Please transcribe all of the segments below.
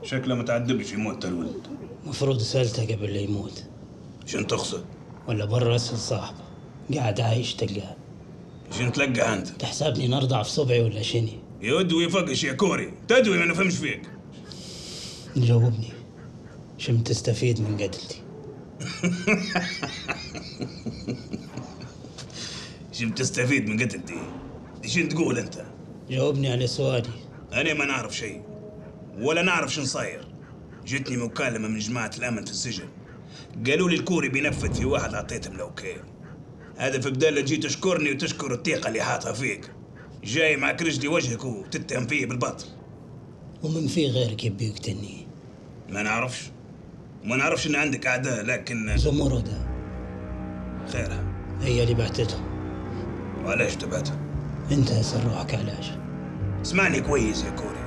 شكله ما تعذبش في موت الولد. مفروض سألته قبل لا يموت. شن تقصد؟ ولا برا اسأل صاحبه قاعد عايش تلقاه. شن تلقى انت؟ تحسبني نرضع في صبعي ولا شني؟ يدوي فقش يا كوري، تدوي ما نفهمش فيك. جاوبني، شم تستفيد من قتلتي؟ شم تستفيد من قتلتي؟ شن تقول انت؟ جاوبني على سؤالي. انا ما نعرف شيء ولا نعرف شن صاير. جتني مكالمة من جماعة الأمن في السجن، قالوا لي الكوري بينفذ في واحد، عطيتهم ال OK. هذا في بدال تجي تشكرني وتشكر الثقة اللي حاطها فيك، جاي معك رجلي وجهك وتتهم فيه بالباطل. ومن في غيرك يبي يقتلني؟ ما نعرفش، ما نعرفش ان عندك اعداء، لكن زمردة خيرها هي اللي بعتتهم. وعلاش تبعتها؟ انت اسأل روحك علاش. اسمعني كويس يا كوري،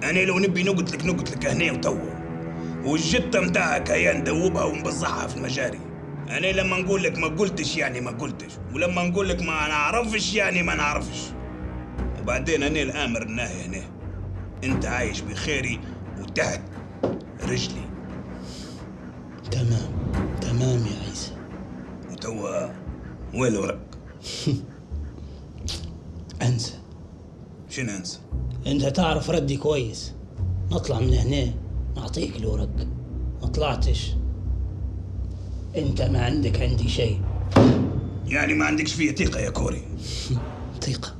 انا لو نبي نقتلك نقتلك هنا وتوا، والجتة متاعك هيا ندوبها ونبزعها في المجاري. انا لما نقول لك ما قلتش يعني ما قلتش، ولما نقول لك ما نعرفش يعني ما نعرفش. وبعدين انا الامر الناهي هنا، انت عايش بخيري وتحت رجلي. تمام تمام يا عيسى. وتوا وين الورق؟ انسى. شنو انسى؟ انت تعرف ردي كويس. نطلع من هنا نعطيك الورق، ما طلعتش انت ما عندك عندي شيء. يعني ما عندكش فيه ثقة يا كوري؟ ثقة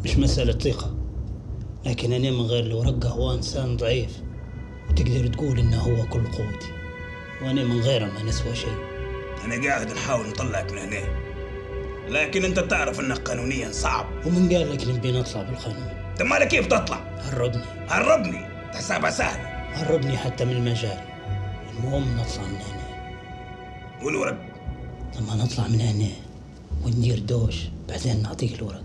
مش مسألة ثقة، لكن أنا من غير الورقة هو إنسان ضعيف، وتقدر تقول إنه هو كل قوتي، وأنا من غيره ما نسوى شيء. أنا قاعد نحاول نطلعك من هنا، لكن أنت تعرف إنك قانونيا صعب. ومن قال لك نبي نطلع بالقانون؟ طب مالك كيف تطلع؟ هربني. هربني؟ تحسابها سهلة. هربني حتى من المجاري، المهم نطلع من هنا. والورق؟ لما نطلع من هنا وندير دوش بعدين نعطيك الورق.